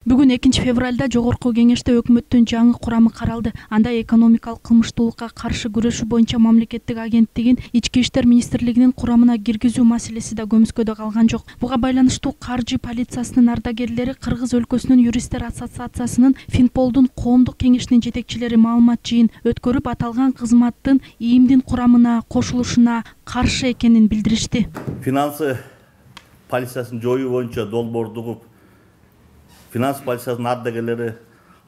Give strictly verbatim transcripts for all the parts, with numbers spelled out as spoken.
Бүгүн экинчи февралда Жогорку кеңеште өкмөттүн жаңы курамы каралды. Анда экономикалык кылмыштуулукка каршы күрөшүү боюнча мамлекеттик агенттигин Ички иштер министрлигинин курамына киргизүү маселеси да көмүскөдө калган жок. Буга байланыштуу каржы полициясынын ардагерлери Кыргыз өлкөсүнүн юристтер ассоциациясынын Финполдун коомдук кеңешинин жетекчилери маалымат жыйын өткөрүп, аталган кызматтын ИИМдин курамына кошулушуна каршы экенин билдиришти. Финансы полициясын жоюу боюнча долбоорду угуп, финанс полициясынын ардагерлери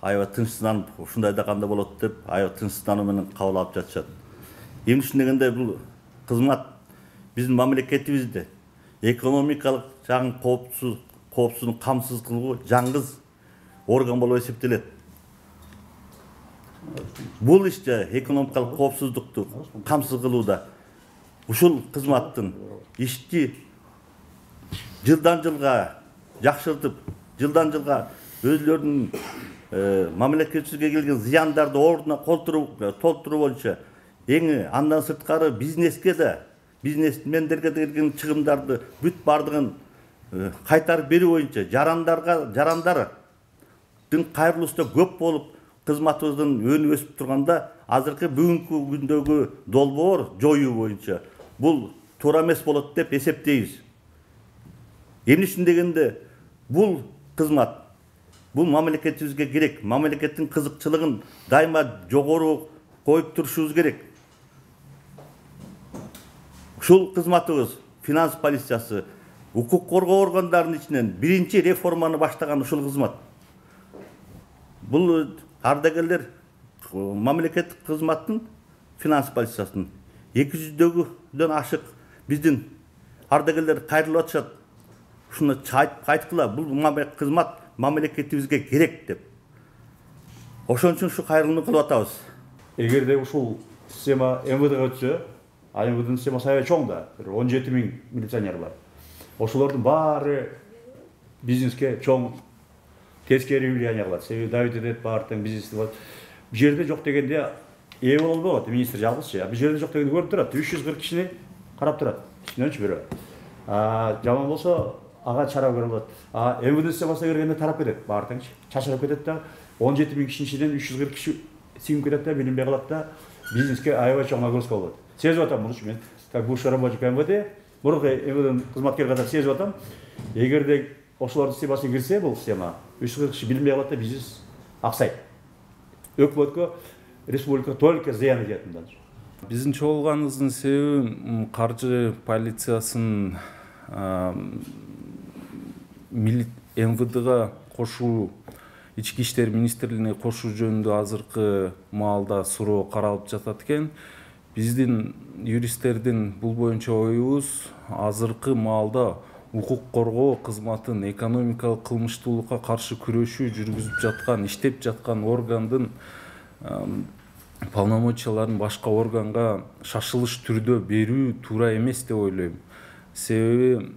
аябай тынчсызданып, ушундай да кандай болот деп, аябай тынчсыздануу менен кабыл алып жатышат. Эмне дегенде бул кызмат биздин мамлекетибизде экономикалык жагын коопсуз, коопсуздугун камсыз кылуу жаңгыз орган болуп эсептелет. Бул иште экономикалык коопсуздукту камсыз кылууда ушул кызматтын ишти жылдан жылга жакшыртып, жылдан жылга өзлөрүнүн мамлекетибизге келген зыяндарды ордуна толтуруу боюнча эң андан сырткары бизнеске да, бизнесмендерге келген чыгымдарды бүт бардыгын кайтарып берүү боюнча жарандарга жарандардын кайрылуусу да көп болуп, кызматыбыздын өнү өсүп турганда азыркы бүгүнкү күндөгү долбоор жоюу боюнча бул туура эмес болот деп эсептейбиз. Эмне үчүн дегенде бул кызмат бул мамлекетибизге керек. Мамлекеттин кызыкчылыгын дайыма жогору коюп турушубуз керек. Ушул кызматыбыз финанс полициясы укук коргоо органдарынын ичинен биринчи реформаны баштаган ушул кызмат. Бул ардагерлер мамлекеттик кызматтын финанс полициясынын эки жүздөгүдөн ашык биздин ардагерлер кайрылып атышат. Ушуну айткыла, бул кызмат мамлекетибизге керек деп. Ошон үчүн ушу кайрылууну кылып атабыз. Эгерде ушул система эм вэ дге өтсө, а эм вэ дин системасы аябай чоң да, он жети миң милиционер бар. Ошолордун баары бизнеске чоң тескери влияние кылат. Себеби давить этет, баардык бизнести болот. Бул жерде жок дегенде ээ боло албайт, министр жалгыз. Бул жерде жок дегенде көрүп турат, үч жүз кырк кишини карап турат. Ичиненчи бирөө. А жаман болсо ага чара көрүп алат. А эм вэ дин системасына киргенде тарап кетет, баардыгы чачырап кетет да, он жети миң кишинин ичинен үч жүз кырк киши сиңип кетет да, билинбей калат да, бизнеске аябай чоң нагрузка болот. Сезип атам муну мен, как бывший работник эм вэ дэ, мурунку эм вэ дэнин кызматкери катары сезип атам. Эгерде ошолордун системасына кирсе бул система, үч жүз кырк киши билинбей калат да, бизнес аксайт. Өкмөткө, республикага только зыян кетет мындан. Биздин чогулганыбыздын себеби каржы полициясынын эм вэ дга кошуу, Ички иштер министрлигине кошуу жөнүндө азыркы маалда суроо каралып жатат экен. Биздин юристтердин бул боюнча оюбуз азыркы маалда укук коргоо кызматын экономикалык кылмыштуулукка каршы күрөшүү жүргүзүп жаткан, иштеп жаткан органдын полномочияларын башка органга шашылыш түрдө берүү туура эмес деп ойлойм. Себеби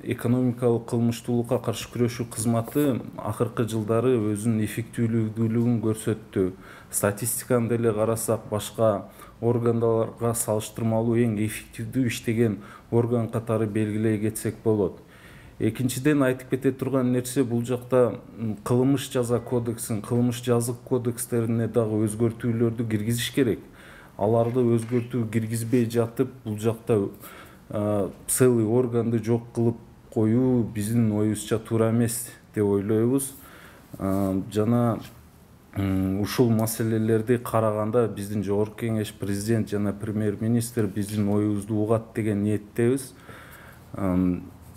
экономикалык кылмыштуулукка каршы күрөшүү кызматы акыркы жылдары өзүнүн эффектүүлүгүн көрсөттү. Статистиканы деле карасак, башка органдарга салыштырмалуу эң эффективдүү иштеген орган катары белгилей кетсек болот. Экинчиден айтып кете турган нерсе, бул жакта кылмыш жаза кодексин, кылмыш жазык кодекстерине дагы өзгөртүүлөрдү киргизиш керек. Аларды өзгөртүү киргизбей жатып, бул жакта целый органды жок кылып коюу биздин оюбузча туура эмес деп ойлойбуз. Жана ушул маселелерди караганда биздин Жогорку кеңеш, президент жана премьер-министр биздин оюбузду угат деген ниеттебиз.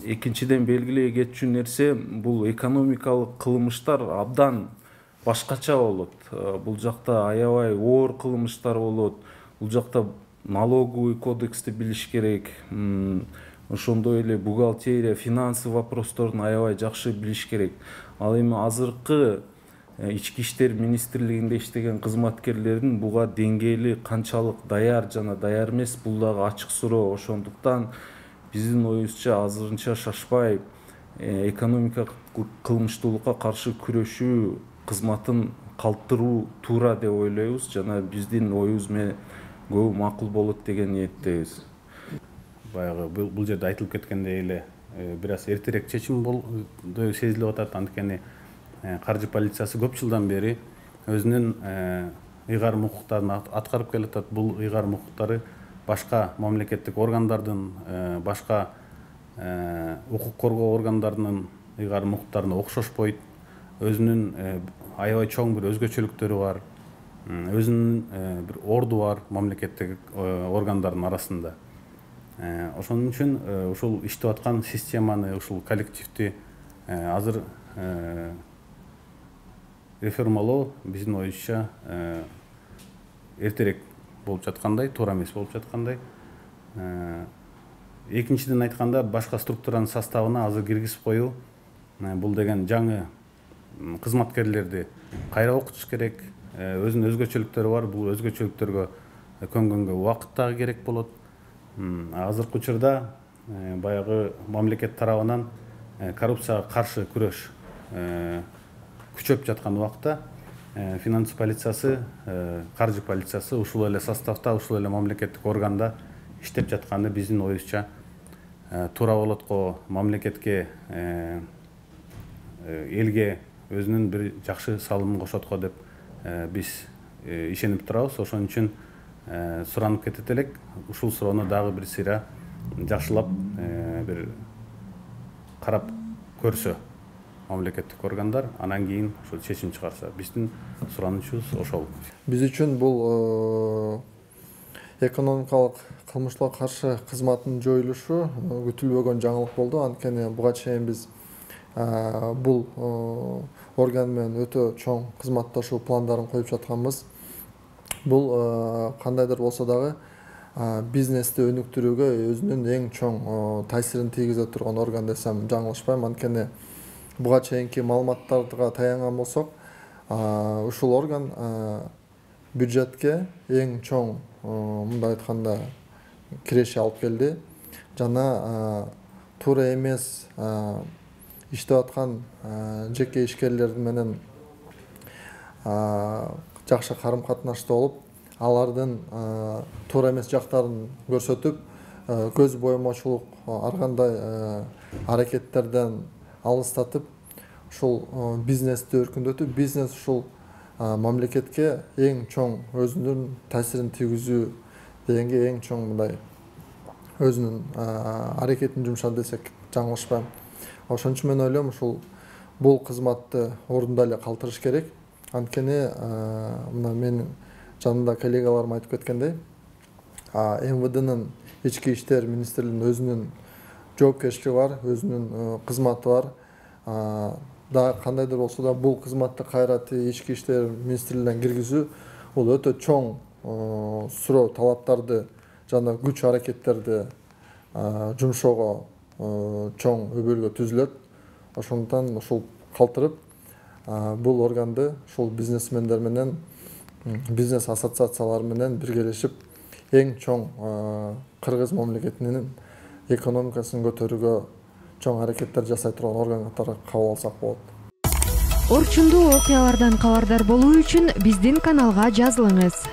Экинчиден белгилей кетчү нерсе, бул экономикалык кылмыштар абдан башкача болот. Бул жакта аябай оор кылмыштар болот. Бул жакта налоговый кодексти билиш керек. Ошондой эле бухгалтерия, финансы вопросторун аябай жакшы билиш керек. Ал эми азыркы Ички иштер министрлигинде иштеген кызматкерлердин буга деңгээли канчалык даяр жана даяр эмес, бул дагы ачык суроо. Ошондуктан биздин оюбузча азырынча шашпай экономикалык кылмыштуулукка каршы күрөшүү кызматын калтыруу туура деп ойлойбуз жана биздин оюбуз менен көбү макул болот деген ниеттебиз. Баягы бул жерде айтылып кеткендей эле бир аз эртерээк чечим болду сезилип атат. Анткени каржы полициясы көп жылдан бери өзүнүн ыйгарым укуктарын аткарып келатат. Бул ыйгарым укуктары башка мамлекеттик органдардын, башка укук коргоо органдарынын ыйгарым укуктарына окшошпойт. Өзүнүн аябай чоң бир өзгөчөлүктөрү бар, өзүнүн бир орду бар мамлекеттик органдардын арасында. Ошон үчүн ушул иштеп аткан системаны, ушул коллективди азыр реформалоо биздин оюбузча эртерээк болуп жаткандай, туура эмес болуп жаткандай. Экинчиден айтканда, башка структуранын составына азыр киргизип коюу, бул деген жаңы кызматкерлерди кайра окутуш керек. Өзүнүн өзгөчөлүктөрү бар, бул өзгөчөлүктөргө көнгөнгө убакыт дагы керек болот. Азыркы учурда баягы мамлекет тарабынан коррупцияга каршы күрөш күчөп жаткан убакта финанс полициясы, каржы полициясы ушул эле составда, ушул эле мамлекеттик органда иштеп жатканы биздин оюбузча туура болот го. Мамлекетке, элге өзүнүн бир жакшы салымын кошот го деп биз ишенип турабыз. Ошон үчүн суранып кетет элек. Ушул суроону дагы бир сыйра жакшылап бир карап көрсө мамлекеттик органдар, анан кийин ошол чечим чыгарса, биздин суранычыбыз ошол. Биз үчүн бул экономикалык кылмыштуулукка каршы кызматтын жоюлушу күтүлбөгөн жаңылык болду. Анткени буга чейин биз бул орган менен өтө чоң кызматташуу пландарын коюп жатканбыз. Бул кандайдыр болсо дагы бизнести өнүктүрүүгө өзүнүн эң чоң таасирин тийгизе турган орган десем жаңылышпайм. Анткени буга чейинки маалыматтарга таянган болсок, ушул орган бюджетке эң чоң, мындай айтканда, киреше алып келди. Жана туура эмес иштеп аткан жеке ишкерлер менен жакшы карым катнашта болуп, алардын туура эмес жактарын көрсөтүп, көз боемочулук ар кандай аракеттерден алыстатып, ушул бизнести өркүндөтүп, бизнес ушул мамлекетке эң чоң өзүнүн таасирин тийгизүү дегенге эң чоң мындай өзүнүн аракетин жумшады десек жаңылышпайм. Ошон үчүн мен ойлойм, ушул бул кызматты ордунда эле калтырыш керек. Анткени мына менин жанымда коллегаларым айтып кеткендей, МВДнын ички иштер министрлигинин өзүнүн жоопкерчилиги бар, өзүнүн кызматы бар. Да кандайдыр болсо да бул кызматты кайра ички иштер министрлигинен киргизүү бул өтө чоң суроо талаптарды жана күч аракеттерди жумшоого чоң өбөлгө түзүлөт. Ошондуктан ушул калтырып, бул органды ушул бизнесмендер менен, бизнес ассоциациялары менен биргелешип эң чоң кыргыз мамлекетинин экономикасын көтөрүүгө чоң аракеттер жасай турган орган катары кабыл алсак болот. Орчундуу окуялардан кабардар болуу үчүн биздин каналга жазылыңыз.